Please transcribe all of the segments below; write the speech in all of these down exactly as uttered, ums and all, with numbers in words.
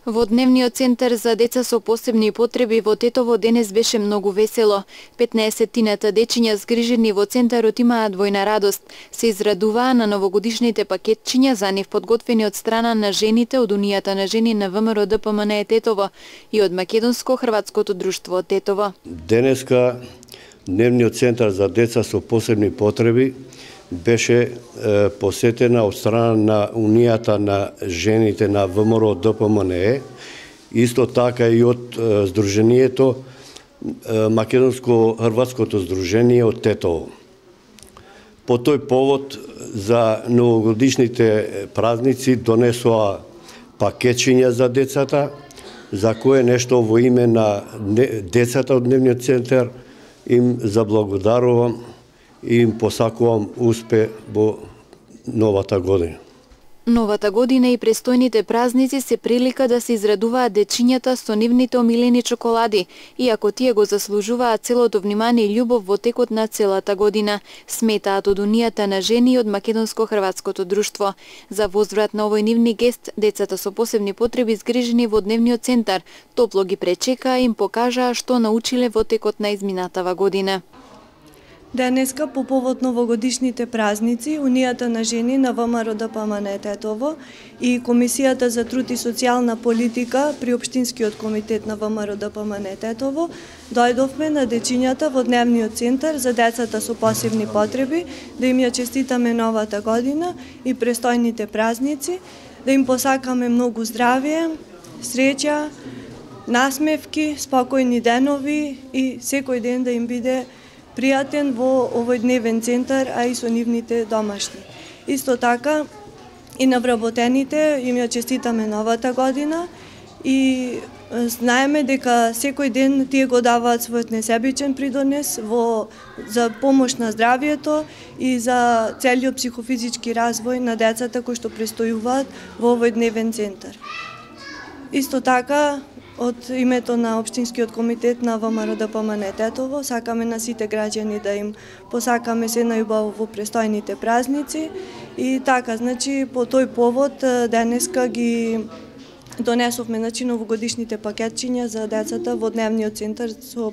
Во Дневниот центар за деца со посебни потреби во Тетово денес беше многу весело. петнаесеттината дечиња згрижени во центарот имаат двојна радост. Се израдуваа на новогодишните пакетчиња за нив подготвени од страна на жените од Унијата на жени на ВМРО Д П М Н Е Тетово и од Македонско-хрватското друштво од Тетово. Денеска Дневниот центар за деца со посебни потреби беше е, посетена од страна на Унијата на жените на ВМРО Д П М Н Е, исто така и од е, Сдруженијето е, Македонско-хрватското здружение од Тетово. По тој повод за новогодишните празници донесоа пакетчиња за децата, за кое нешто во име на децата од Дневниот центар им заблагодарувам и им посакувам успех во новата година. Новата година и престојните празници се прилика да се израдуваат дечињата со нивните омилени чоколади, иако тие го заслужуваат целото внимание и љубов во текот на целата година, сметаат од Унијата на жени и од Македонско-хрватското друштво. За возврат на овој нивни гест, децата со посебни потреби згрижени во Дневниот центар топло ги пречекаа и им покажаа што научиле во текот на изминатава година. Денеска, по повод новогодишните празници, Унијата на жени на ВМРО Д П М Н Е Тетово и Комисијата за труд и социјална политика при Општинскиот комитет на ВМРО Д П М Н Е Тетово дојдовме на дечињата во Дневниот центар за децата со посебни потреби, да им ја честитаме новата година и престојните празници, да им посакаме многу здравје, среќа, насмевки, спокојни денови и секој ден да им биде пријатен во овој дневен центар, а и со нивните домашни. Исто така и на вработените им ја честитаме новата година и знаеме дека секој ден тие го даваат својот несебичен придонес во за помош на здравјето и за целиот психофизички развој на децата кои што престојуваат во овој дневен центар. Исто така од името на Општинскиот комитет на ВМРО Д П М Н Е Тетово сакаме на сите граѓани да им посакаме се најубаво во престојните празници и така, значи по тој повод денеска ги донесовме значи новогодишните пакетчиња за децата во Дневниот центар со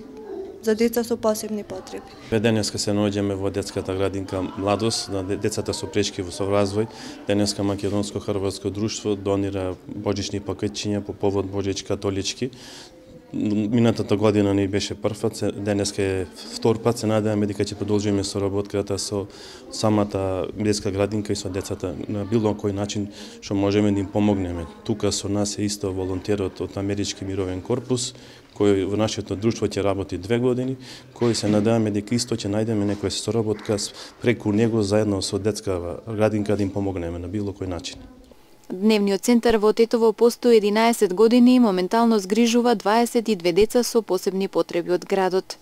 за деца со посебни потреби. Денеска се наоѓаме во детската градинка Младост на децата со прешки во развој. Денеска Македонско-хрватско друштво донира божични пакетчиња по повод Божич католички. Минатата година не беше прв, денеска е втор пат, се надеваме дека ќе продолжиме соработката со самата детска градинка и со децата на било кој начин што можеме да им помогнеме. Тука со нас е исто волонтерот од Амерички мировен корпус, кој во нашето друштво ќе работи две години, кој се надеваме дека исто ќе најдеме некоја соработка преку него заедно со детска градинка да им помогнеме на било кој начин. Дневниот центар во Тетово постои единаесет години и моментално згрижува дваесет и две деца со посебни потреби од градот.